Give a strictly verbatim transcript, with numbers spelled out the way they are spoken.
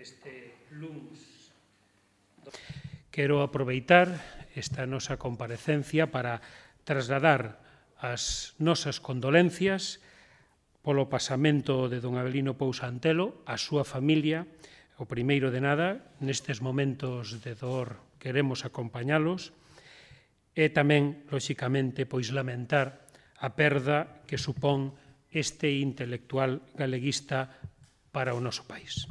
este luns. Quero aproveitar esta nosa comparecencia para trasladar as nosas condolencias polo pasamento de don Avelino Pousa Antelo, a súa familia. O primeiro de nada, nestes momentos de dor queremos acompañalos e tamén, lóxicamente, pois lamentar a perda que supón este intelectual galeguista para o noso país.